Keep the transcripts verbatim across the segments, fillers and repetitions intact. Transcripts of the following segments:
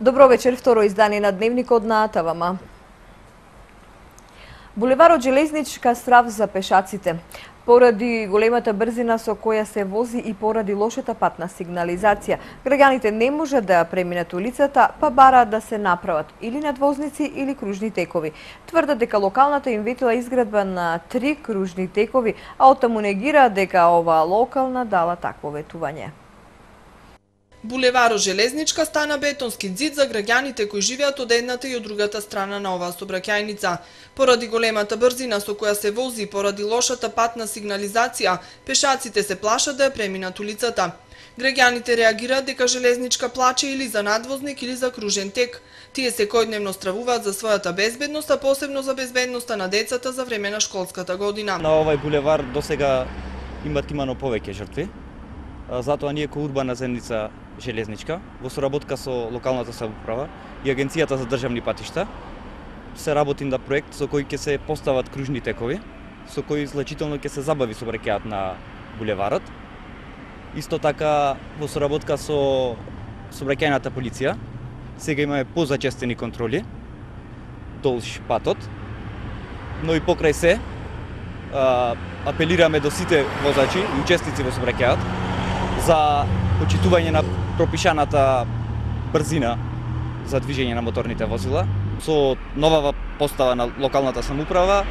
Добро вечер, второ издание на Дневникот на АТВМ. Булеварот Железничка страв за пешаците. Поради големата брзина со која се вози и поради лошата патна сигнализација, граѓаните не може да преминат улицата, па бараат да се направат или надвозници или кружни текови. Тврдат дека локалната им ветила изградба на три кружни текови, а оттаму негираат дека оваа локална дала такво ветување. Булеварот Железничка стана бетонски ѕид за граѓаните кои живеат од едната и од другата страна на оваа сообраќајница. Поради големата брзина со која се вози и поради лошата патна сигнализација, пешаците се плашат да ја преминат улицата. Граѓаните реагираат дека Железничка плаче или за надвозник или за кружен тек. Тие секојдневно стравуваат за својата безбедност, а посебно за безбедноста на децата за време на школската година. На овај булевар досега имат имано повеќе жртви. Затоа ние ко урбана заедница Железничка, во соработка со локалната самоуправа и Агенцијата за државни патишта, се работи на проект со кој ќе се постават кружни текови, со кој значително ќе се забави сообраќајот на булеварот. Исто така во соработка со сообраќајната полиција, сега имаме позачестени контроли долж патот, но и покрај се а, апелираме до сите возачи и учесници во сообраќајот за почитување на пропишаната брзина за движење на моторните возила. Со новава постава на локалната самоуправа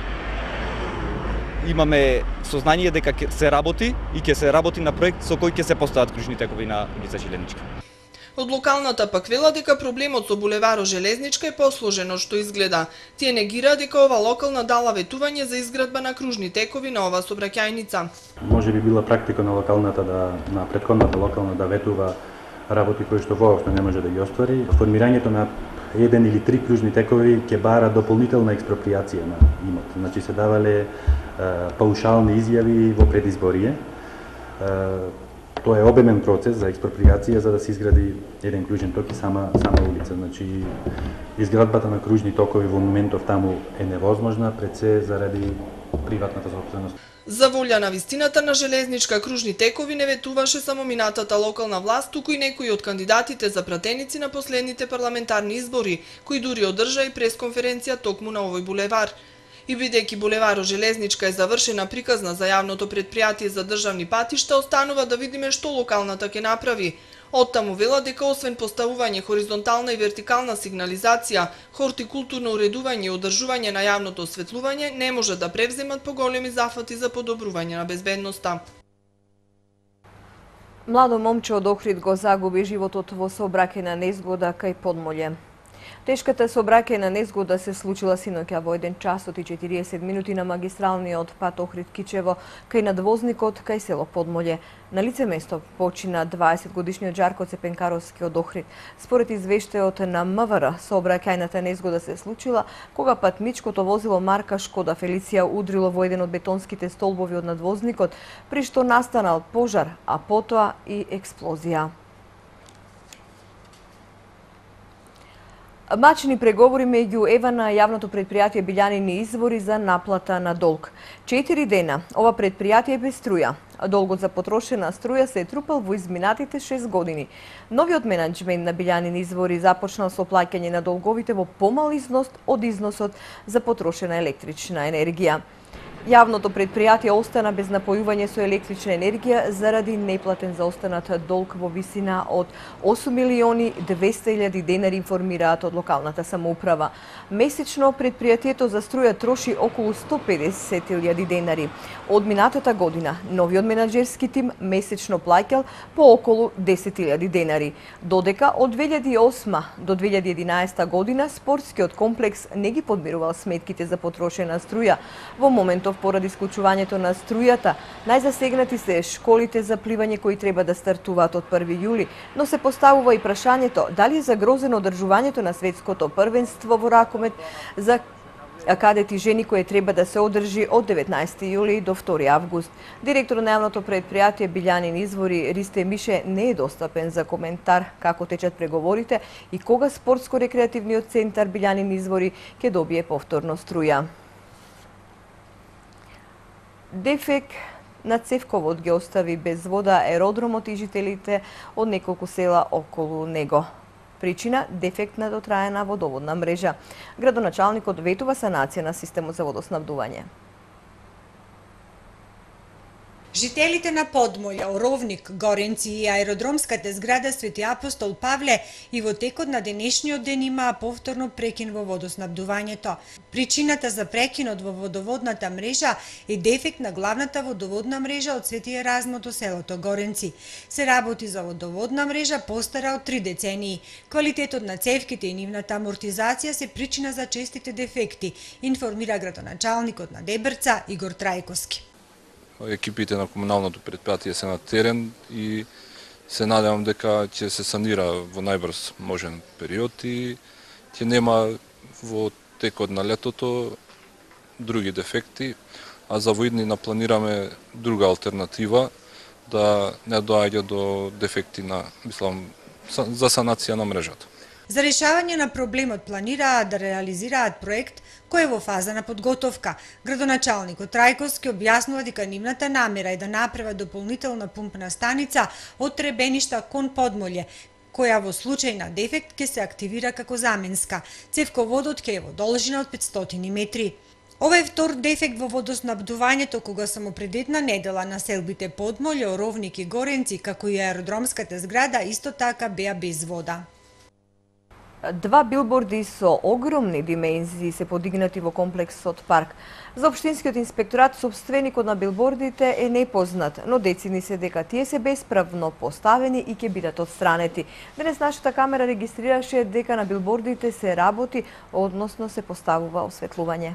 имаме сознание дека ќе се работи и ќе се работи на проект со кој ќе се постават кружни текови на улица Железничка. Од локалната пак вела дека проблемот со булеварот Железничка е посложен од што изгледа. Тие негираат дека ова локална дала ветување за изградба на кружни текови на оваа сообраќајница. Може би била практика на локалната да на претходната локална да ветува работи кои што воопшто не може да ги оствари. Формирањето на еден или три кружни текови ќе бара дополнителна експроприација на имот. Значи се давале е, паушални изјави во предизборие. Е, Тоа е обемен процес за експроприација за да се изгради еден кружен ток и сама сама улица. Значи изградбата на кружни токови во моментов таму е невозможна пред се заради приватната собственост. За волја на вистината на Железничка кружни текови не ветуваше само минатата локална власт, туку и некои од кандидатите за пратеници на последните парламентарни избори, кои дури одржа и пресконференција токму на овој булевар. И бидејќи булеварот Железничка е завршена приказна за јавното предпријатие за државни патишта, останува да видиме што локалната ќе направи. Оттаму вела дека освен поставување хоризонтална и вертикална сигнализација, хортикултурно уредување и одржување на јавното осветлување не може да превземат поголеми зафати за подобрување на безбедноста. Младо момче од Охрид го загуби животот во сообраќајна незгода кај Подмолје. Тешката сообраќајна незгода се случила синоќа во еден часот и четириесет минути на магистралниот пат Охрид-Кичево кај надвозникот кај село Подмолје. На лице место почина дваесет годишниот Жарко Цепенкаровски од Охрид. Според извештајот на МВР, сообраќајната незгода се случила кога патничкото возило марка Шкода Фелиција удрило во еден од бетонските столбови од надвозникот, при што настанал пожар, а потоа и експлозија. Мачни преговори меѓу ЕВА-на јавното предпријатие Билјанини извори за наплата на долг. Четири дена ова предпријатие без струја. Долгот за потрошена струја се е трупал во изминатите шест години. Новиот менаџмент на Билјанини извори започнал со плаќање на долговите во помал износ од износот за потрошена електрична енергија. Јавното предпријатие остана без напојување со електрична енергија заради неплатен заостанат долг во висина од осум милиони двесте илјади денари, информираат од локалната самоуправа. Месечно предпријатието за струја троши околу сто педесет илјади денари. Од минатата година новиот менаџерски тим месечно плаќал по околу десет илјади денари, додека од две илјади и осма до две илјади и единаесета година спортскиот комплекс не ги подмирувал сметките за потрошена струја. Во моментов поради исклучувањето на струјата, најзасегнати се школите за пливање кои треба да стартуваат од први јули, но се поставува и прашањето дали е загрозено одржувањето на светското првенство во ракомет за кадети жени кое треба да се одржи од деветнаесети јули до втори август. Директор на јавното предпријатие Билјанини извори Ристе Мише не е достапен за коментар како течат преговорите и кога спортско-рекреативниот центар Билјанини извори ќе добие повторно струја. Дефек на Цевковот ги остави без вода аеродромот и жителите од неколку села околу него. Причина – дефект на дотраена водоводна мрежа. Градоначалникот ветува санација на системот за водоснабдување. Жителите на Подмолја, Оровник, Горенци и аеродромската зграда Свети Апостол Павле и во текот на денешниот ден имаа повторно прекин во водоснабдувањето. Причината за прекинот во водоводната мрежа е дефект на главната водоводна мрежа од Свети Еразмо до селото Горенци. Се работи за водоводна мрежа постара од три децении. Квалитетот на цевките и нивната амортизација се причина за честите дефекти, информира градоначалникот на Дебрца Игор Трајковски. Екипите на комуналното предпријатие се на терен и се надевам дека ќе се санира во најбрз можен период и ќе нема во текот на летото други дефекти, а за во иднина планираме друга алтернатива да не доаѓа до дефекти на, мислам, за санација на мрежата. За решавање на проблемот планираат да реализираат проект кој е во фаза на подготовка. Градоначалникот Трајковски објаснува дека нивната намера е да направат дополнителна пумпна станица од Требеништа кон Подмолје, која во случај на дефект ќе се активира како заменска. Цевководот ќе е во должина од петстотини метри. Ова е втор дефект во водоснабдувањето кога само пред една недела населбите Подмолје, Оровник и Горенци, како и аеродромската зграда, исто така беа без вода. Два билборди со огромни димензии се подигнати во комплексот парк. За општинскиот инспекторат сопственикот на билбордите е непознат, но децини се дека тие се бесправно поставени и ќе бидат отстранети. Денес нашата камера регистрираше дека на билбордите се работи, односно се поставува осветлување.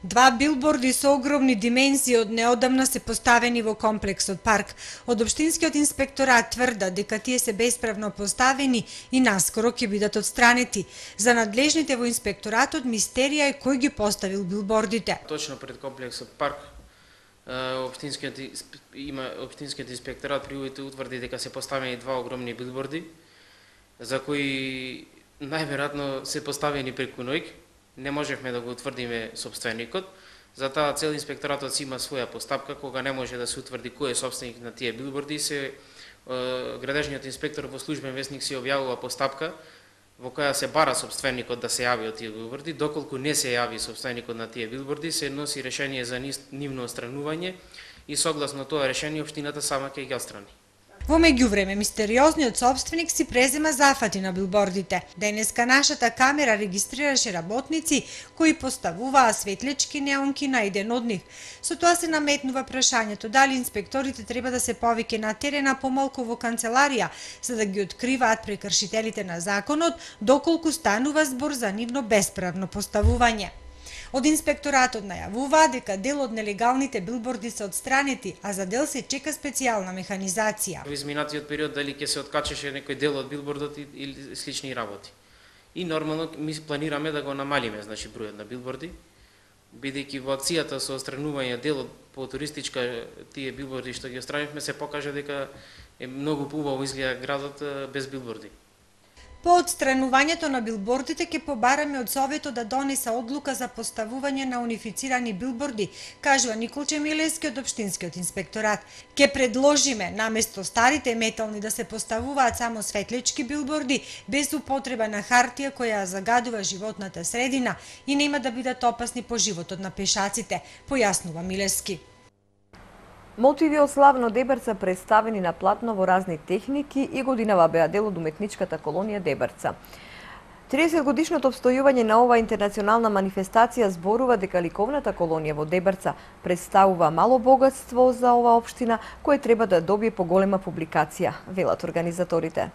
Два билборди со огромни димензии од неодамна се поставени во комплексот парк. Од општинскиот инспекторат тврдат дека тие се бесправно поставени и наскоро ќе бидат отстранети. За надлежните во инспекторатот мистерија е кој ги поставил билбордите. Точно пред комплексот парк општинскиот има општинскиот инспекторат при увите утврди дека се поставени два огромни билборди за кои најверојатно се поставени преку ноќ. Не можевме да го утврдиме сопственикот, за таа цел инспекторатот си има своја постапка, кога не може да се утврди кој е сопственик на тие билборди, се градежниот инспектор во службен весник се објавува постапка во која се бара сопственикот да се јави од тие билборди. Доколку не се јави сопственикот на тие билборди, се носи решение за нивно отстранување и согласно тоа решение општината сама ќе ги отстрани. Во меѓувреме, мистериозниот сопственик си презема зафати на билбордите. Денеска нашата камера регистрираше работници кои поставуваа светлечки неонки на еден од нив. Со тоа се наметнува прашањето дали инспекторите треба да се повеќе на терена, помалку во канцеларија, за да ги откриваат прекршителите на законот, доколку станува збор за нивно бесправно поставување. Од инспекторатот најавуваа дека дел од нелегалните билборди се отстранети, а за дел се чека специјална механизација. Во изминатиот период дали ќе се откачеше некој дел од билбордот или слични работи. И нормално ми планираме да го намалиме, значи бројот на билборди, бидејќи во акцијата со отстранување дел од по туристичка тие билборди што ги отстранивме се покажа дека е многу поубаво изгледа градот без билборди. По отстранувањето на билбордите ќе побараме од Советот да донесе одлука за поставување на унифицирани билборди, кажува Николче Милевски од општинскиот инспекторат. Ќе предложиме наместо старите метални да се поставуваат само светлечки билборди без употреба на хартија која загадува животната средина и нема да бидат опасни по животот на пешаците, појаснува Милевски. Мотиви од славно Дебрца представени на платно во разни техники и годинава беа дел од уметничката колонија Дебрца. триесет годишното обстојување на ова интернационална манифестација зборува дека ликовната колонија во Дебрца представува мало богатство за ова општина, кое треба да добие поголема публикација, велат организаторите.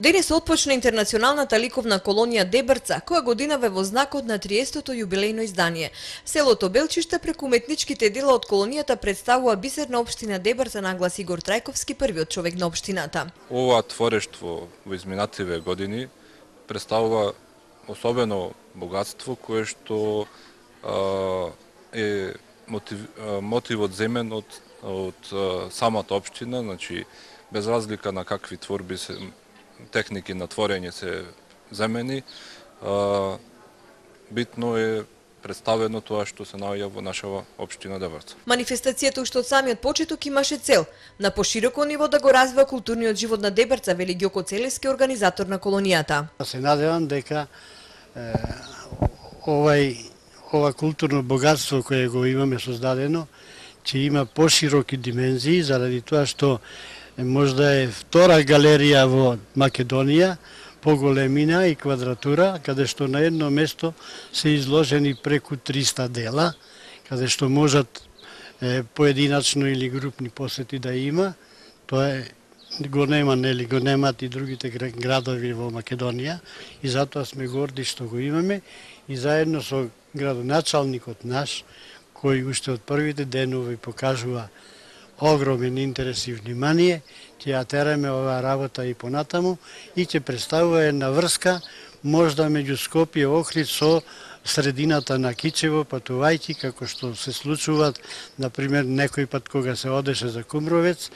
Денес отпочна интернационалната ликовна колонија Дебрца, која годинава во знакот на триесетото јубилејно издание. Селото Белчишта преку уметничките дела од колонијата представува бисер на општина Дебрца, нагласи Игор Трајковски, првиот човек на општината. Ова творештво во изминативе години представува особено богатство кое што а, е мотив, а, мотивот земен од, од а, самата општина, значи без разлика на какви творби се техники на творење се земени, а, битно е представено тоа што се наоѓа во нашава општина Дебарца. Манифестацијата уште од самиот почеток имаше цел на пошироко ниво да го развива културниот живот на Дебарца, вели Ѓоко Целески, организатор на колонијата. Се надевам дека е, овај ова културно богатство кое го имаме создадено ќе има пошироки димензии заради тоа што можда е втора галерија во Македонија по големина и квадратура, каде што на едно место се изложени преку триста дела, каде што можат е, поединачно или групни посети да има. Тоа е го нема, нели, го немат и другите градови во Македонија и затоа сме горди што го имаме и заедно со градоначалникот наш, кој уште од првите денови покажува огромен интерес и внимание, ќе ја тераме оваа работа и понатаму и ќе представува една врска можда меѓу Скопје и Охрид со средината на Кичево, патувајќи како што се случуваат, например, некој пат кога се одеше за Кумровец,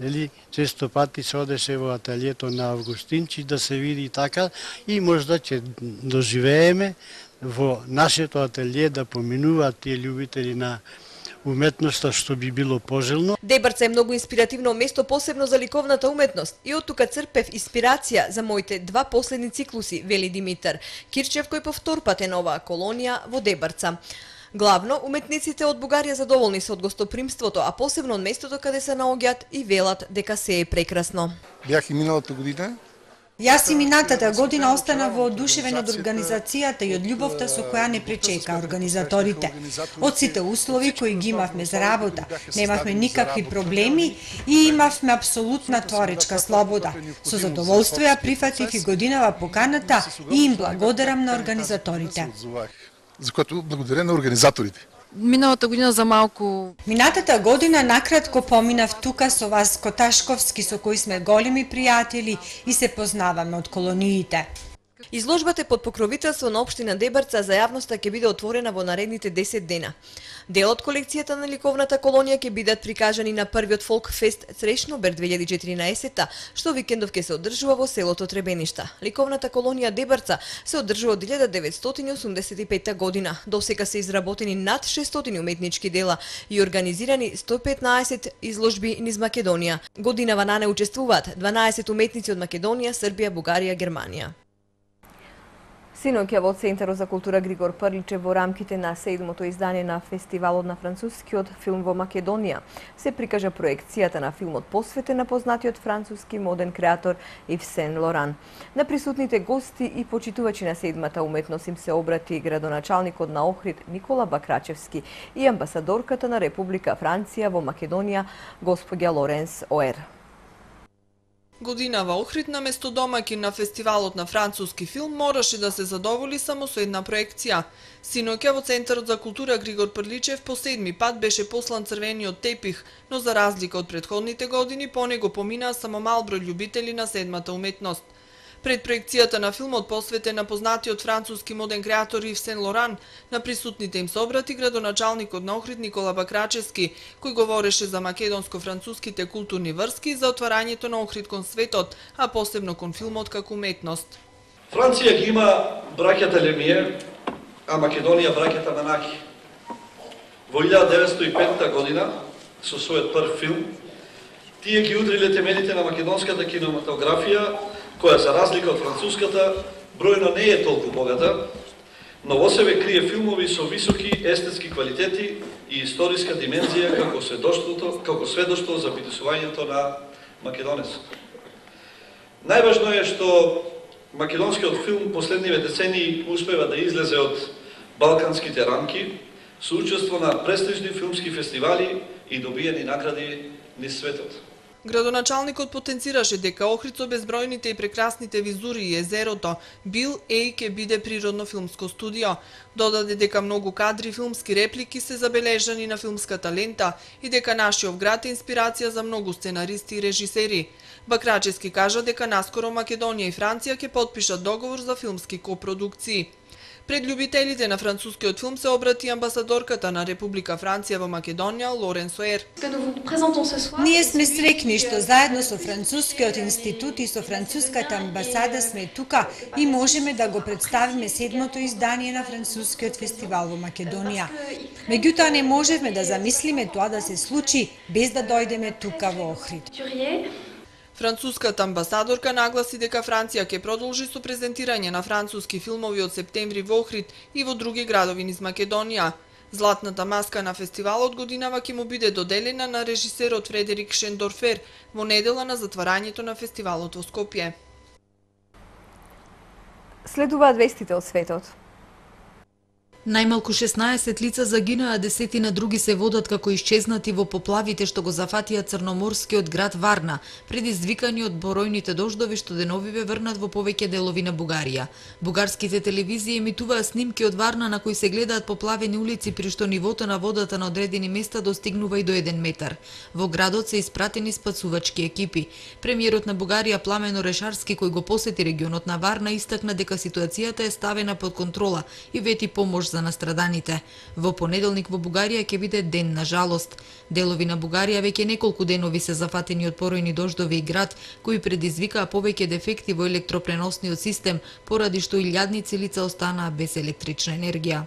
нели, често пати се одеше во ателието на Августинчи да се види така и можда ќе доживееме во нашето ателие да поминуваат тие љубители на уметноста, што би било пожелно. Дебарца е многу инспиративно место, посебно за ликовната уметност. И од тука црпев инспирација за моите два последни циклуси, вели Димитар Кирчев, кој по втор пат е на оваа колонија во Дебарца. Главно, уметниците од Бугарија задоволни се од гостопримството, а посебно од местото каде се наоѓаат и велат дека се е прекрасно. Бях и миналата година. Јас и минатата година остана воодушевен од организацијата и од љубовта со која не пречека организаторите. Од сите услови кои ги имавме за работа, немавме никакви проблеми и имавме апсолутна творечка слобода. Со задоволство ја прифатив и годинава поканата и им благодарам на организаторите. За което благодаря на организаторите. Миналата година за малку... Минатата година накратко поминав тука со Васко Ташковски, со кој сме големи пријатели и се познаваме од колониите. Изложбата е под покровителство на општина Дебарца, за јавноста ќе биде отворена во наредните десет дена. Дел од колекцијата на ликовната колонија ќе бидат прикажани на првиот фолк фест Црешнобер две илјади и четиринаесетта, што викендов ќе се одржува во селото Требеништа. Ликовната колонија Дебарца се одржува од илјада деветстотини осумдесет и петта година. Досега се изработени над шестстотини уметнички дела и организирани сто и петнаесет изложби низ Македонија. Годинава на не учествуваат дванаесет уметници од Македонија, Србија, Бугарија, Германија. Синоќа во Центарот за култура Григор Прличев во рамките на седмото издание на фестивалот на францускиот филм во Македонија се прикажа проекцијата на филмот посветен на познатиот француски моден креатор Ив Сен Лоран. На присутните гости и почитувачи на седмата уметност им се обрати градоначалникот на Охрид Никола Бакрачевски и амбасадорката на Република Франција во Македонија госпоѓа Лоренс Оер. Годинава Охрид на место домаќин на фестивалот на француски филм мораше да се задоволи само со една проекција. Синоќа во Центарот за култура Григор Прличев по седми пат беше послан црвениот тепих, но за разлика од претходните години по него поминаа само мал број љубители на седмата уметност. Пред проекцијата на филмот посветен на познатиот француски моден креатор Ив Сен Лоран, на присутните им се обрати градоначалникот на Охрид Никола Бакрачевски, кој говореше за македонско-француските културни врски и за отварањето на Охрид кон светот, а посебно кон филмот како уметност. Франција ги има браќата Лемиер, а Македонија браќата Манаки. Во илјада деветстотини и петта година, со својот прв филм, тие ги удриле темелите на македонската кинематографија, која за разлика од француската, бројно не е толку богата, но во себе крие филмови со високи естетски квалитети и историска димензија како сведоштвото, како сведоштво за битувањето на македонецот. Најважно е што македонскиот филм последниве децении успева да излезе од балканските рамки со учество на престижни филмски фестивали и добиени награди низ светот. Градоначалникот потенцираше дека Охрид со безбројните и прекрасните визури и езерото бил е и ке биде природно филмско студио. Додаде дека многу кадри филмски реплики се забележани на филмската лента и дека нашиот град е инспирација за многу сценаристи и режисери. Бакрачевски кажа дека наскоро Македонија и Франција ќе потпишат договор за филмски копродукции. Пред љубителите на францускиот филм се обрати амбасадорката на Република Франција во Македонија, Лорен Соер. Ние сме срекни што заедно со Францускиот институт и со француската амбасада сме тука и можеме да го представиме седмото издание на францускиот фестивал во Македонија. Меѓутоа не можевме да замислиме тоа да се случи без да дојдеме тука во Охрид. Француската амбасадорка нагласи дека Франција ќе продолжи со презентирање на француски филмови од септември во Охрид и во други градови низ Македонија. Златната маска на фестивалот годинава ќе му биде доделена на режисерот Фредерик Шендорфер во недела на затварањето на фестивалот во Скопје. Следуваат вестите од светот. Најмалку шеснаесет лица загинаа, десетина други се водат како исчезнати во поплавите што го зафатија црноморскиот град Варна, предизвикани од боројните дождови што деновиве врнат во повеќе делови на Бугарија. Бугарските телевизии емитуваа снимки од Варна на кои се гледаат поплавени улици при што нивото на водата на одредени места достигнува и до еден метар. Во градот се испратени спасувачки екипи. Премиерот на Бугарија Пламен Орешарски, кој го посети регионот на Варна, истакна дека ситуацијата е ставена под контрола и вети помош за настраданите. Во понеделник во Бугарија ќе биде ден на жалост. Делови на Бугарија веќе неколку денови се зафатени од поројни дождови и град, кои предизвикаа повеќе дефекти во електропреносниот систем, поради што илјадници лица останаа без електрична енергија.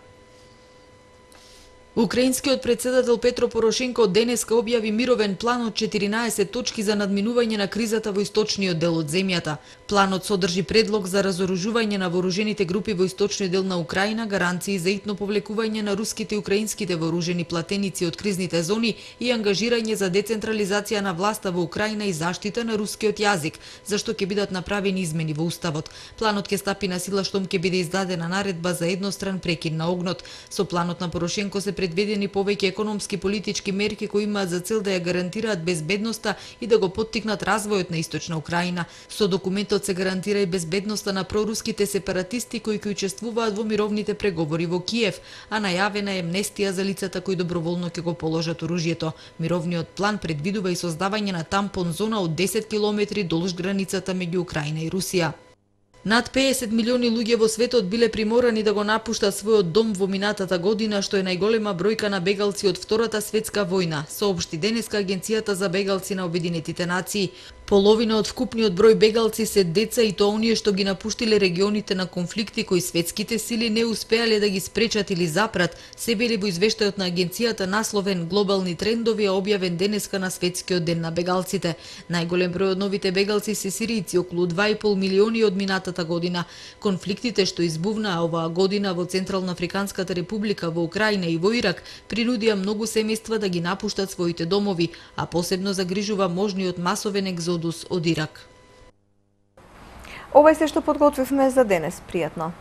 Украинскиот председател Петро Порошенко денеска објави мировен план од четиринаесет точки за надминување на кризата во источниот дел од земјата. Планот содржи предлог за разоружување на вооружените групи во источниот дел на Украина, гаранции за итно повлекување на руските и украинските вооружени платеници од кризните зони и ангажирање за децентрализација на власта во Украина и заштита на рускиот јазик, зашто ќе бидат направени измени во уставот. Планот ќе стапи на сила штом ќе биде издадена наредба за едностран прекин на огнот. Со планот на Порошенко се предвидени повеќе економски политички мерки кои имаат за цел да ја гарантираат безбедноста и да го поттикнат развојот на источна Украина. Со документот се гарантира и безбедноста на проруските сепаратисти кои ќе учествуваат во мировните преговори во Киев, а најавена е амнестија за лицата кои доброволно ќе го положат оружјето. Мировниот план предвидува и создавање на тампон зона од десет километри долж границата меѓу Украина и Русија. Над песет милиони луѓе во светот биле приморани да го напуштат својот дом во минатата година, што е најголема бројка на бегалци од Втората светска војна, соопшти денеска Агенцијата за бегалци на Обединетите нации. Половина од вкупниот број бегалци се деца и тоа оние што ги напуштиле регионите на конфликти кои светските сили не успеале да ги спречат или запрат, се вели во извештајот на агенцијата насловен Глобални трендови, објавен денеска на Светскиот ден на бегалците. Најголем број од новите бегалци се сиријци, околу два и пол милиони од минатата година. Конфликтите што избувнаа оваа година во Централна Африканската република, во Украина и во Ирак принудија многу семејства да ги напуштат своите домови, а посебно загрижува можниот масовен екзодус од Ирак. Ова е се што подготвивме за денес. Пријатно.